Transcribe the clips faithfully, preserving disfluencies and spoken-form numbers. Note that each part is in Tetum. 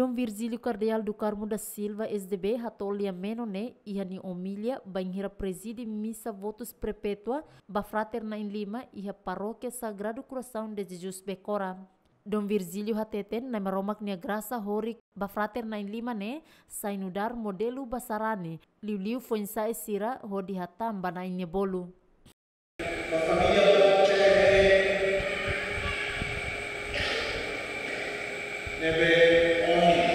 Dom Virgílio Kardeál do Carmo da Silva, S D B, hato'o lia-menon ne'e iha nia omilia bainhira prezide misa votus prepétua ba frater na'in-lima iha Parókia Sagrado Coração de Jesus Becora. Dom Virgílio hateten Na'i Maromak nia grasa horik ba frater na'in-lima ne'e sai nu'udar modelu ba sarani, liuliu foin-sa'e sira hodi hatán ba Na'i nia bolu. Ba família Bote ne'ebé ohin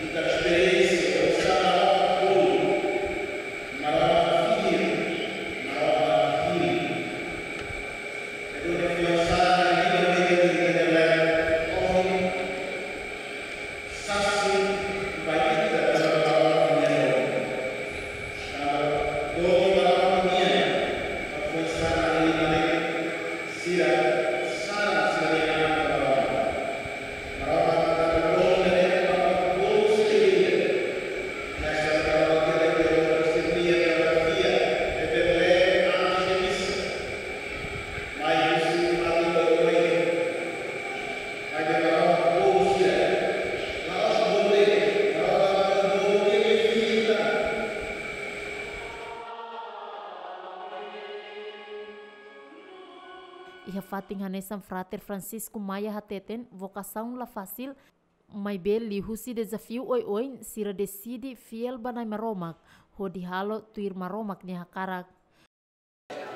ita esperiénsia oinsá Maromak bolu, Maromak fiar, Maromak fiar. Duni foin-sa'e ida ne'ebé ita hetan ohin, sasin ba ita tanba Maromak nia bolu. Tanba bolu Maromak nian, foin-sa'e na'in-lima ne'e, sira saran sira-nia an ba Maromak. Maromak tanba bolu ne'e, Maromak bolu sira ida. Hanesan Maromak nia bolu sira ida, tanba fiar, ne'ebé lee antes de misa. Mai husi fatin dodoik. Maibé Maromak bolu sira. La'ós bolu de'it, Maromak bolu nia fiar. Iha fatin hanesan frater Francisco Maia hateten, vokasaun la fasil, maibé liuhusi dezafiu oioin sira deside fiél ba Na'i Maromak, hodi halo tuir Maromak nia hakarak.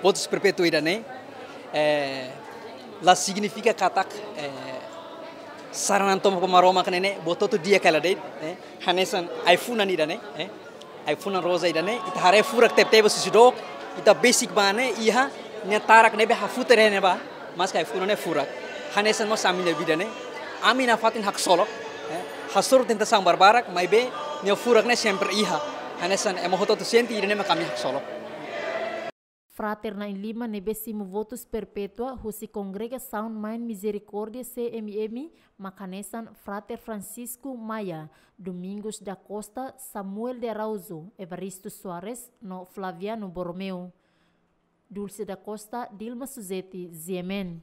Votus prepétua ida-ne'e, eh, la signifika katak, eh, saran an tomak ba Maromak ne'e, ne'e, buat hotu di'ak hela de'it, eh, hanesan ai-funan ida-ne'e, eh, ai-funan roza ida-ne'e, ita haree furak tebetebes husi dook, ita besik ba ne'e, iha, nia tarak ne'ebé hafutar iha ne'ebá, maske ai-funan ne'e furak. Hanesan mós ami-nia vida ne'e, ami nafatin haksolok, eh, hasoru tentasaun barbarak, maibé, nia furak ne'e sempre iha. Hanesan ema hotu-hotu sente, ida-ne'e mak ami haksolok. Frater na'in-lima ne'ebé simu votus prepétua husi Kongregasaun Mãe Misericórdia C M M mak hanesan frater Francisco Maia, Domingos da Costa, Samuel de Araújo, Evaristo Soares, no Flaviano Borromeu. Dulce da Costa, Dilma Suzeti, G M N.